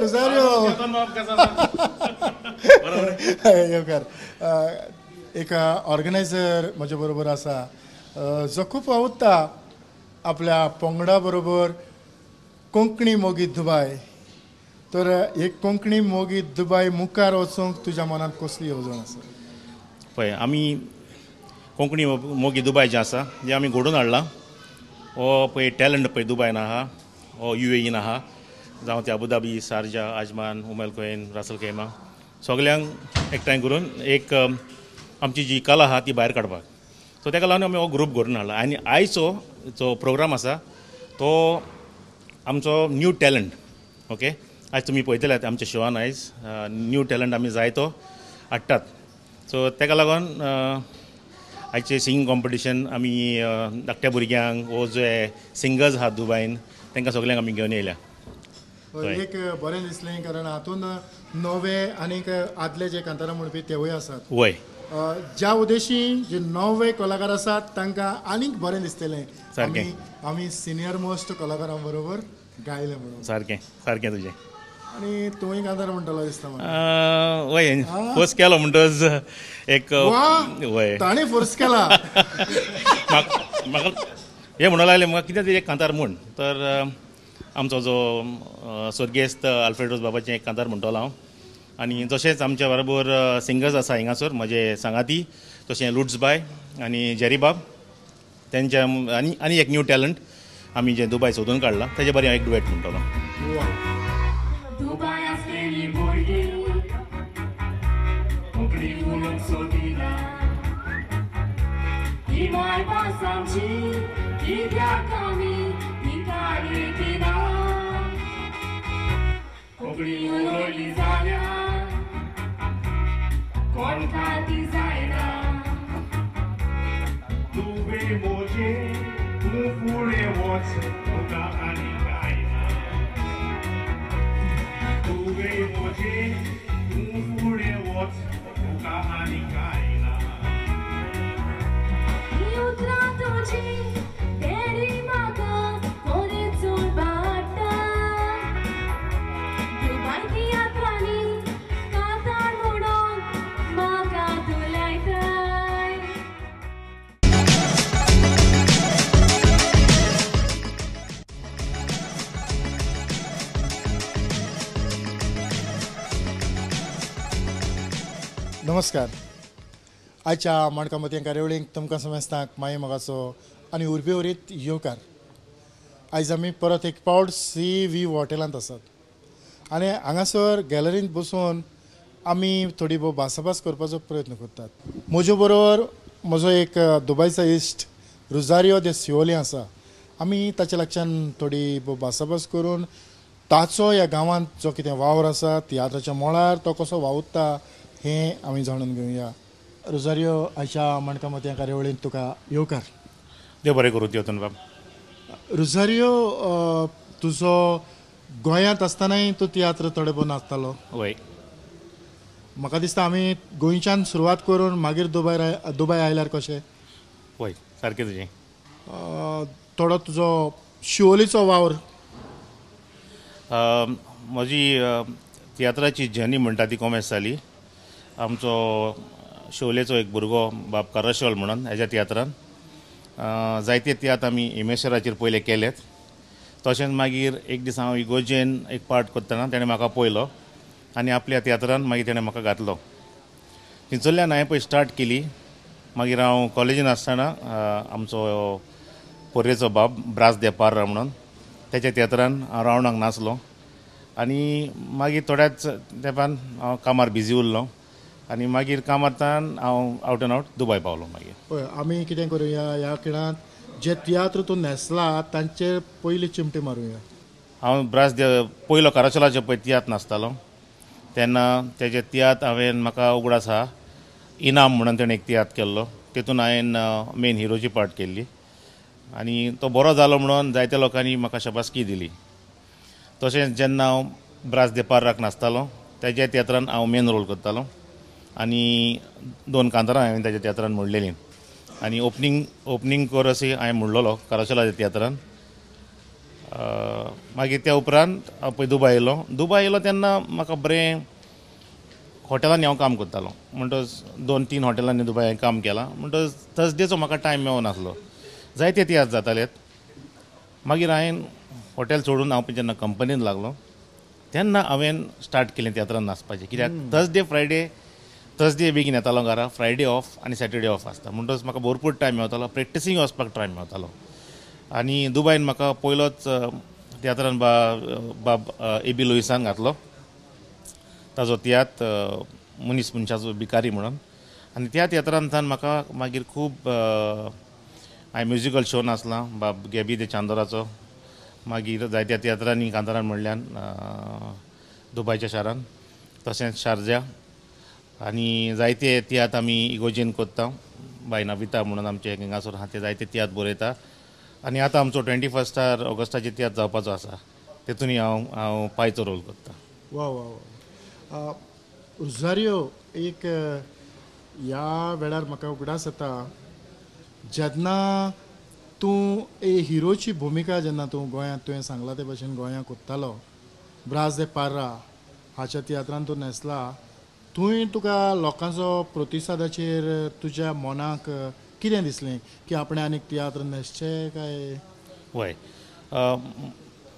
रुजारियो येवकार. एक ऑर्गनायझर म्हजे बरोबर आसा जो खूब वावुरता आपल्या पंगडा बरोबर कोंकणी मोगी दुबाय. तर एक कोंकणी मोगी दुबाय मुखार वचूंक तुज्या मनांत कसली येवजण आसा? पळय, आमी कोंकणी मोगी दुबाय जें आसा जें आमी घडोवन हाडलां, हो पळय टॅलंट पळय दुबायन आहा, हो युएईन आहा, जावं ते Abu Dhabi, Sharjah, Ajman, Umm al Quwain, Ras al Khaimah, सगल्यांक एकठांय करून एक आमची जी कला आहा ती भायर काडपाक. सो ताका लागून आमी हो ग्रूप घडोवन हाडला. आनी आयचो जो प्रोग्राम आसा तो आमचो न्यू टॅलंट. ओके, आयज तुमी पळयतले आमच्या शोवान आयज न्यू टॅलंट आमी जायतो हाडटात. सो ताका लागून आयचे सिंगींग कॉम्पिटिशन आमी धाकट्या भुरग्यांक वो जे सिंगर्स आहात दुबायन तांकां सगल्यांक आमी घेवन येयल्या. एक बरें दिसलें कारण हातूंत नवे आनीक आदले जे कांतारां म्हणपी तेवूय आसात. वय, ज्या उद्देशी जे नवे कलाकार आसात तांकां आनीक बरें दिसतलें. सारकें, आमी सिनियर मोस्ट कलाकारां बरोबर गायलें म्हणून. सारकें सारकें तुजें. आनी तुवें कांतार म्हणटलो दिसता म्हाका. वय, फोर्स केलो म्हणटच एक. वय, ताणें फोर्स केला. म्हाका हें म्हणूंक लागलें म्हाका कितें तरी एक कांतार म्हूण. तर आमचो जो स्वर्गेस्त आल्फ्रेडोस बाबाचें एक कांतार म्हणटलो हांव. आनी तशेंच आमच्या बरोबर सिंगर्स आसा हिंगासर म्हजे सांगाती, तशें लुट्सबाय आनी जेरीबाब तेंच्या आनी आनी एक न्यू टॅलंट आमी जें दुबाय सोदून काडलां तेजे बरें हांव एक डुएट म्हणटलो. कोण खाती जायना तुवें म्हजें तूं फुडें वच तुका आनी कांय ना. तुवें म्हजें तूं फुडें वच तुका आनी कांय ना. ही उतरां तुजीं तेरी म्हाका कोरें चोड बाडटा. दुबाय तियात्रांनी कांतार म्हणून म्हाका तूं लायताय. नमस्कार. आयच्या माणका मोतयां कार्यावळींक तुमकां समेस्तांक माये मोगाचो आनी उर्बेवरीत येवकार. आयज आमी परत एक पावट सी व्ही हॉटेलांत आसात आनी हांगासर गॅलरींत बसून आमी थोडी भोव भासाभास करपाचो प्रयत्न करतात. म्हजे बरोबर म्हजो एक दुबयचो इश्ट रुजारियो दे सिओली आसा. आमी ताच्या लागच्यान थोडी भोव भासाभास करून ताचो ह्या गांवांत जो कितें वावर आसा तियात्राच्या मळार तो कसो वावुरता हें आमी जाणून घेवया. रोजारियो, आयच्या माणका मोतयां कार्यावळींत तुका येवकार. देव बरें करूं तेवतन बाब. रोजारियो, तुजो गोंयांत आसतनाय तूं तियात्र थोडे भोव नाचतालो. वय, म्हाका दिसता आमी गोंयच्यान सुरवात करून मागीर दुबाय आयल्यार कशें? वय, सारकें तुजें. थोडो तुजो शिवोलीचो वावर. म्हजी तियात्राची जर्नी म्हणटा ती कोमेस जाली. आमचो शोलेचो एक भुरगो बाब कराशोल म्हणून हेज्या तियात्रान जायते तियात्र आमी इमेश्वराचेर पयले केलेत. तशेंच मागीर एक दीस हांव इगोजेन एक पार्ट करतना तेणें म्हाका पळयलो आनी आपल्या तियात्रान मागीर तेणें म्हाका घातलो. थंयसरल्यान हांवें पळय स्टार्ट केली. मागीर हांव कॉलेजीन आसतना आमचो पोरयेचो बाब ब्रास दे पार्रा म्हणून तेच्या तियात्रान हांव रावणाक नाचलो. आनी मागीर थोड्याच तेंपान हांव कामार बिजी उरलो आनी मागीर कामांतल्यान हांव आवट एंड आवट दुबाय पावलो. मागीर पळय, आमी कितें करुया ह्या खिणांत जे तियात्र तूं न्हेसला तांचेर पयली चिमटी मारुया. हांव ब्रास दे पयलो कराचोलाचो पळय तियात्र नाचतालो तेन्ना तेजे तियात्र हांवें म्हाका उगडास आहा इनाम म्हणून तेणें एक तियात्र केल्लो. तेतून हांवें मेन हिरोची पार्ट केल्ली आनी तो बरो जालो म्हणून जायत्या लोकांनी म्हाका शाबासकी दिली. तशेंच जेन्ना हांव ब्रास दे पार्राक नाचतालो तेज्या तियात्रान हांव मेन रोल करतालो आनी दोन कांतारां हांवें ताच्या तियात्रान म्हणलेलीं. आनी ओपनींग कोरस हांवें म्हणलेलो कराशोलाच्या तियात्रान. मागीर त्या उपरांत हांव पळय दुबाय येयलो. दुबाय येयलो तेन्ना म्हाका बरें हॉटेलांनी हांव काम करतालो, म्हणटच 2-3 हॉटेलांनी दुबाय हांवें काम केलां. म्हणटच थर्सडेचो म्हाका टायम मेळनासलो, जायते तियात्र जाताले. मागीर हांवें हॉटेल सोडून हांव जेन्ना कंपनीन लागलो तेन्ना हांवें स्टार्ट केलें तियात्रान नाचपाचें. कित्याक थर्सडे फ्रायडे, थर्सडे बेगीन येतालो घरा, फ्रायडे ऑफ आनी सॅटर्डे ऑफ आसता, म्हणटच म्हाका भरपूर टायम मेवतालो, प्रॅक्टिसींग वचपाक टायम मेवतालो. आनी दुबायन म्हाका पयलोच तियात्रान बाब ए बी लुईसान घातलो, ताजो तियात्र मनीस मनशाचो भिकारी म्हणून. आनी त्या तियात्रांतल्यान म्हाका मागीर खूब हांवें म्युजिकल शो नाचला बाब गॅबी दे चांदोराचो, मागीर जायत्या तियात्रांनी कांतारान म्हणल्यान दुबायच्या शारान, तशेंच शारजा. आनी जायते तियात्र आमी इगोजेन करता, बाय नविता म्हणून आमचे हांगासर आहा, ते जायते तियात्र बरयता. आनी आतां आमचो 21 ऑगस्टाचे तियात्र जावपाचो आसा, तेतूनय हांव हांव पायचो रोल करता. वा वा वा. रोजारियो, एक ह्या वेळार म्हाका उगडास येता जेन्ना तूं ए हिरोची भुमिका जेन्ना तूं गोंयांत, तुवें सांगलां ते भशेन गोंयांत कोत्तालो, ब्रास दे पार्रा हाच्या तियात्रान तूं न्हेसला, थंय तुका लोकांचो प्रतिसादाचेर तुज्या मनाक कितें दिसलें की आपणें आनीक तियात्र न्हेसचे काय? वय,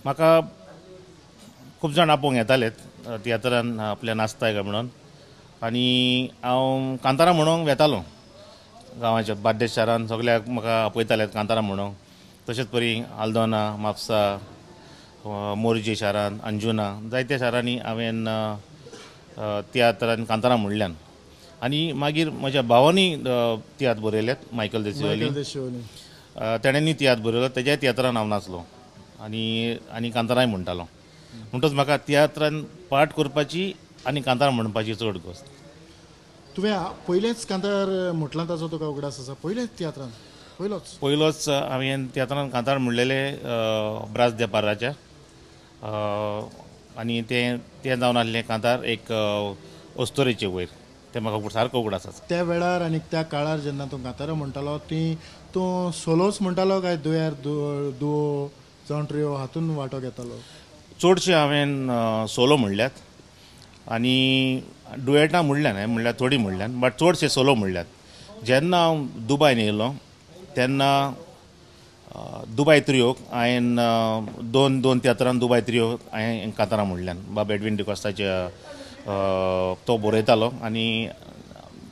म्हाका खूब जाण आपोवंक येताले तियात्रान आपल्या नाचताय काय म्हणून, आनी हांव कांतारां म्हणूंक वेतालो गांवाच्या बार्देस शारान, सगल्याक म्हाका आपयताले कांतारां म्हणूंक. तशेंच परी आल्दोना, म्हापसा, मोरजे शारान, अंजुना, जायत्या शारांनी हांवें तियात्रान कांतारां म्हणल्यान. आनी मागीर म्हज्या भावांनी तियात्र बरयल्यात, मायकल देसिवली, तेणेंनी तियात्र बरयलो, तेज्याय तियात्रान हांव नाचलो आनी आनी कांतारांय म्हणटालो. म्हणटच म्हाका तियात्रान पार्ट करपाची आनी कांतारां म्हणपाची चड गोश्ट. तुवें पयलेंच कांतार म्हटलां ताचो तुका उगडास आसा? पयलेंच तियात्रान पयलोच पयलोच हांवें तियात्रान कांतार म्हणलेले ब्रास दे पार्राच्या, आनी तें तें जावन आसलें कांतार एक अस्तोरेचे वयर, तें म्हाका सारको उगडास आसा. त्या वेळार आनी त्या काळार जेन्ना तूं कांतारां म्हणटालो ती तूं सोलोच म्हणटालो काय दुयार दुओ जावं ट्रियो हातून वांटो घेतालो? चडशें हांवें सोलो म्हणल्यात आनी डुएटां म्हणल्यान, म्हणल्यार थोडीं म्हणल्यान, बट चडशे सोलो म्हणल्यात. जेन्ना हांव दुबायन येयलो तेन्ना दुबाय त्रियोक हांवें दोन तियात्रान दुबाय त्रियोक हांवें कांतारां म्हणल्यान. बाब एडवीन डिकोस्ताच्या तो बरयतालो आनी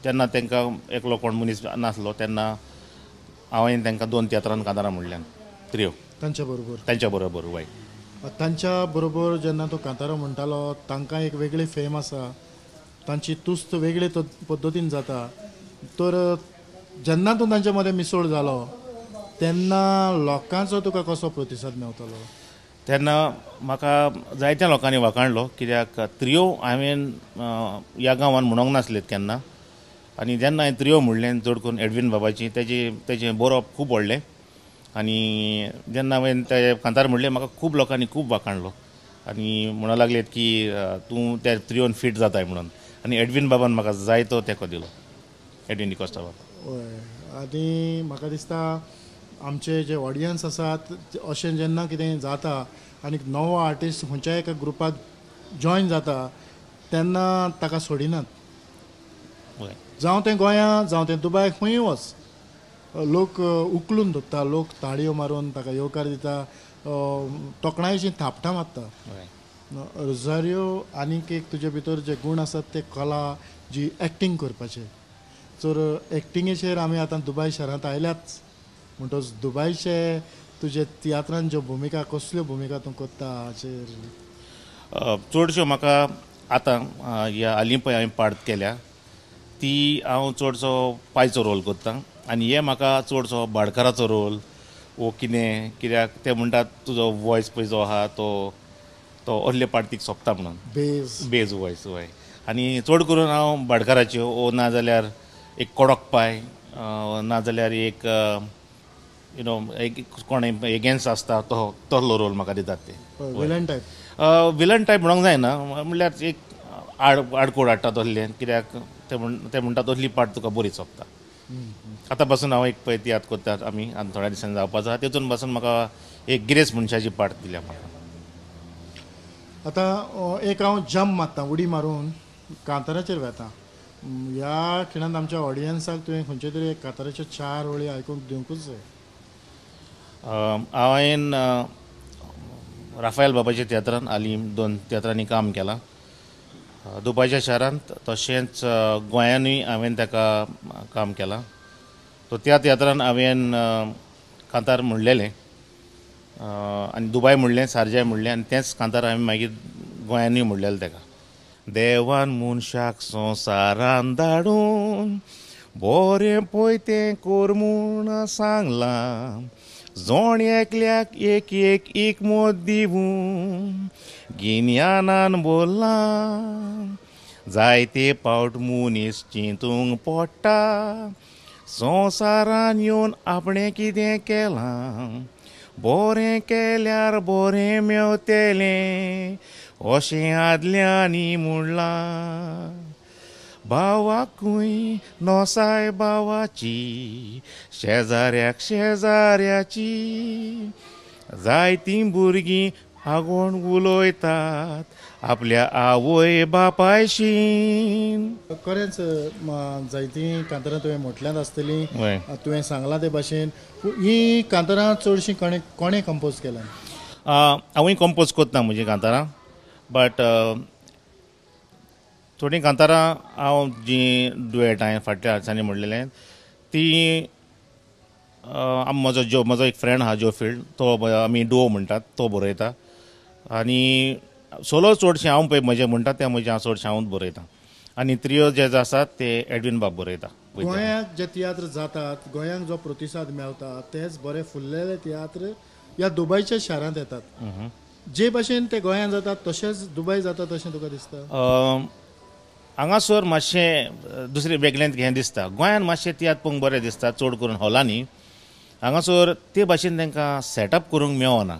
तेन्ना तांकां एकलो कोण मनीस नासलो, तेन्ना हांवें तांकां 2 तियात्रान कांतारां म्हणल्यान त्रियो तांच्या बरोबर. तांच्या बरोबर वय. तांच्या बरोबर जेन्ना तो कांतारां म्हणटालो तांकां एक वेगळी फेम आसा, तांची तुस्त वेगळे पद्दतीन जाता, तर जेन्ना तूं तांच्या मदें मिसळ जालो तेन्ना लोकांचो तुका कसो प्रतिसाद मेवतालो? तेन्ना म्हाका जायत्या लोकांनी वाखाणलो, कित्याक त्रियो हांवें ह्या गांवान म्हणूंक नासलेत केन्ना. आनी जेन्ना हांवें त्रियो म्हणलें चड करून एडवीन बाबाची, तेजें बरोवप खूब व्हडलें, आनी जेन्ना हांवें ते कांतार म्हणलें म्हाका खूब लोकांनी खूब वाखाणलो आनी म्हणूंक लागलेत की तूं त्या त्रियोन फीट जाताय म्हणून. आनी एडवीन बाबान म्हाका जायतो तेंको दिलो, एडवीन डिकोस्टा बाबा. हय, आनी म्हाका दिसता आमचे जे ऑडियन्स आसात अशें जेन्ना कितें जाता आनी नवो आर्टिस्ट खंयच्याय एका ग्रुपाक जॉयन जाता तेन्ना ताका सोडिनात. जावं तें गोंया जावं तें दुबाय, खंयूय वच, लोक उखलून धरता, लोक ताळयो मारून ताका येवकार दिता, तोखणायेचीं थापटां मारता. रोजारियो, आनीक एक तुजे भितर जे गूण आसात ते कला जी एक्टींग करपाचे, तर एक्टिंगेचेर आमी आतां दुबाय शारांत आयल्याच, म्हणटच दुबायचे तुजे तियात्रान ज्यो भुमिका, कसल्यो भुमिका तूं करता हाचेर? चडश्यो म्हाका आतां ह्या हालीं पळय हांवें पार्ट केल्या ती हांव चडसो पायचो रोल करता, आनी हे म्हाका चडसो भाडकाराचो रोल वो कितें, कित्याक ते म्हणटात तुजो वॉयस पळय जो आहा तो तो असले पार्टीक सोंपता म्हणून, बेज वॉयस. वय, आनी चड करून हांव भाडकाराच्यो वो नाजाल्यार एक कडक पाय, नाजाल्यार एक you know एक कोण एगेन्स्ट आसता तो तसलो रोल म्हाका दितात ते. Villain type? विलन टायप म्हणूंक जायना, म्हणल्यार एक आडकोड हाडटा तसलें, कित्याक ते म्हणटा तसली पार्ट तुका बरी सोंपता. आतां पासून हांव एक पळय तियात्र करतात आमी आनी थोड्या दिसांनी जावपाचो आसा तेतून पासून म्हाका एक गिरेस्त मनशाची पार्ट दिल्या म्हाका. आतां एक हांव जम्प मारता, उडी मारून कांताराचेर वेता. ह्या खिणांत आमच्या ऑडियन्साक तुवें खंयचे तरी एक कांताराच्यो 4 वळी आयकूंक दिवंकूच जाय. हांवें राफायल बाबाच्या तियात्रान हालीं 2 तियात्रांनी काम केलां दुबायच्या शारांत, तशेंच गोंयानूय हांवें ताका काम केलां. सो त्या तियात्रान हांवें कांतार म्हणलेलें आनी दुबाय म्हणलें, सारजाय म्हणलें आनी तेंच कांतार हांवें मागीर गोंयानूय म्हणलेलें ताका. देवान मनशाक संवसारान धाडून बरें पळय तें कोर म्हूण सांगलां, जोण एकल्याक एक एक एकमत दिवून गिन्यानान बोल्लां, जायते पावट मनीस चिंतूंक पडटा संवसारान येवन आपणें कितें केलां, बरें केल्यार बरें मेवतलें अशें आदल्यांनी म्हणलां, भावाकूय नोसाय भावाची शेजाऱ्याक शेजाऱ्याची, जायतीं भुरगीं आगोण उलयतात आपल्या आवय बापायशीन. खरेंच जायतीं कांतारां तुवें म्हटल्यांत आसतलीं, तुवें सांगलां ते भाशेन. हीं कांतारां चडशीं कोणें कंपोज केल्यां? हांवूय कंपोज करता म्हजीं कांतारां, बट थोडीं कांतारां हांव जीं डुएट हांवें फाटल्या दिसांनी म्हणलेलें ती म्हजो म्हजो एक फ्रेंड आहा जो फिल्ड, तो आमी डुओ म्हणटात, तो बरयता. आनी सोलो चडशें हांव पळय म्हजें म्हणटा तें म्हजें हांव चडशें हांवूच बरयता आनी त्रियो जे आसात ते एडविन बाब बरयता. गोंयांत जे तियात्र जातात, गोंयांक जो प्रतिसाद मेळटा तेच बरे फुल्लेले तियात्र ह्या दुबयच्या शारांत येतात. जे भाशेन ते गोंयांत जातात तशेंच दुबय जाता तशें तुका दिसता? हांगासर मातशें दुसरें वेगळें हें दिसता. गोंयांत मातशें तियात्र पळोवंक बरें दिसता चड करून हॉलांनी, हांगासर ते भाशेन तांकां सेटअप करूंक मेळना.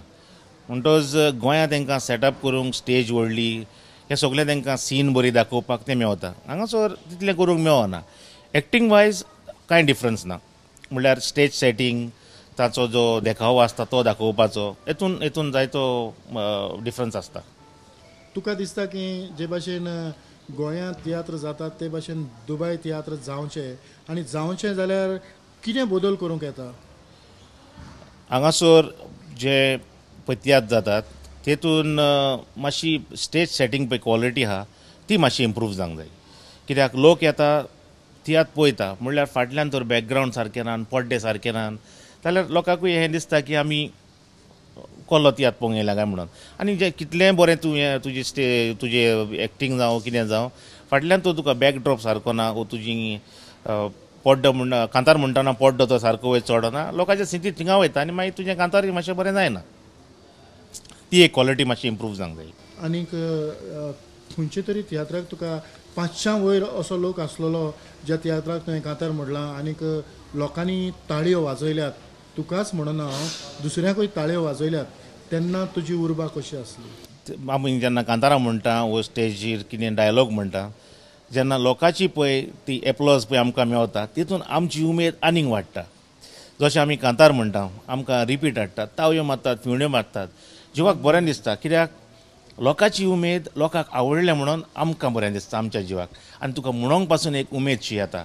म्हणटच गोंयांत तांकां सेटअप करूंक स्टेज व्हडली हें सगळें तांकां सीन बरी दाखोवपाक तें मेवता, हांगासर तितलें करूंक मेळना. एक्टींग वायज कांय डिफरन्स ना, म्हणल्यार स्टेज सेटींग ताचो जो देखावो आसता तो दाखोवपाचो हेतून हेतून जायतो डिफरन्स आसता. तुका दिसता की जे भाशेन गोंयांत तियात्र जातात ते भाशेन दुबय तियात्र जावचे, आनी जावचे जाल्यार कितें बदल करूंक येता? हांगासर जे पळय तियात्र जातात तेतून मातशी स्टेज सेटींग पळय क्वॉलिटी आहा ती मातशी इम्प्रूव जावंक जाय. कित्याक लोक येता तियात्र पळयता म्हणल्यार फाटल्यान तर बॅकग्रावंड सारकें ना, पड्डे सारके ना, जाल्यार लोकांकूय हें दिसता की आमी कोलो तियात्र पळोवंक येयला काय म्हणून. आनी जें कितलेंय बरें तूं हें तुजी तुजें एक्टींग जावं कितें जावं फाटल्यान तो तुका बॅकड्रॉप सारको ना, वो तुजी पड्डो म्हण कांतार म्हणटना पड्डो तो सारको वयर चडना, लोकांच्या सिंती थिंगा वयता आनी मागीर तुजें कांतार मातशें बरें जायना. ती एक क्वॉलिटी मातशी इम्प्रूव जावंक जाय. आनीक खंयचे तरी तियात्राक तुका 500 वयर असो लोक आसलेलो ज्या तियात्राक तुवें कांतार म्हणलां आनीक लोकांनी ताळयो वाजयल्यात, तुकाच म्हणना हांव, दुसऱ्याकूय ताळयो वाजयल्यात, तेन्ना तुजी उर्बा कशी आसली? आमी जेन्ना कांतारां म्हणटा वो स्टेजीर कितें डायलॉग म्हणटा जेन्ना लोकांची पळय ती एप्लॉज पळय आमकां मेवता तितून आमची उमेद आनीक वाडटा. जशें आमी कांतार म्हणटा आमकां रिपीट हाडटात, तावयो मारतात, फिवण्यो मारतात, जिवाक बरें दिसता. कित्याक लोकांची उमेद लोकांक आवडलें म्हणून आमकां बरें दिसता आमच्या जिवाक, आनी तुका म्हणोंक पासून एक उमेदशी येता.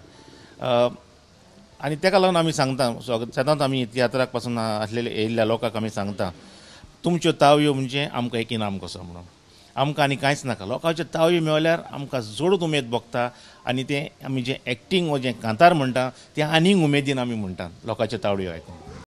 आनी ताका लागून आमी सांगता सदांच आमी तियात्राक पासून आसलेले येयल्ल्या लोकांक आमी सांगता तुमच्यो तावयो म्हणजे आमकां एक इनाम कसो म्हणून, आमकां आनी कांयच नाका. लोकांच्यो तावयो मेवल्यार आमकां जोडूच उमेद भोगता आनी तें आमी जें एक्टींग वो जें कांतार म्हणटा तें आनीक उमेदीन आमी म्हणटा लोकांच्यो तावयो आयकून.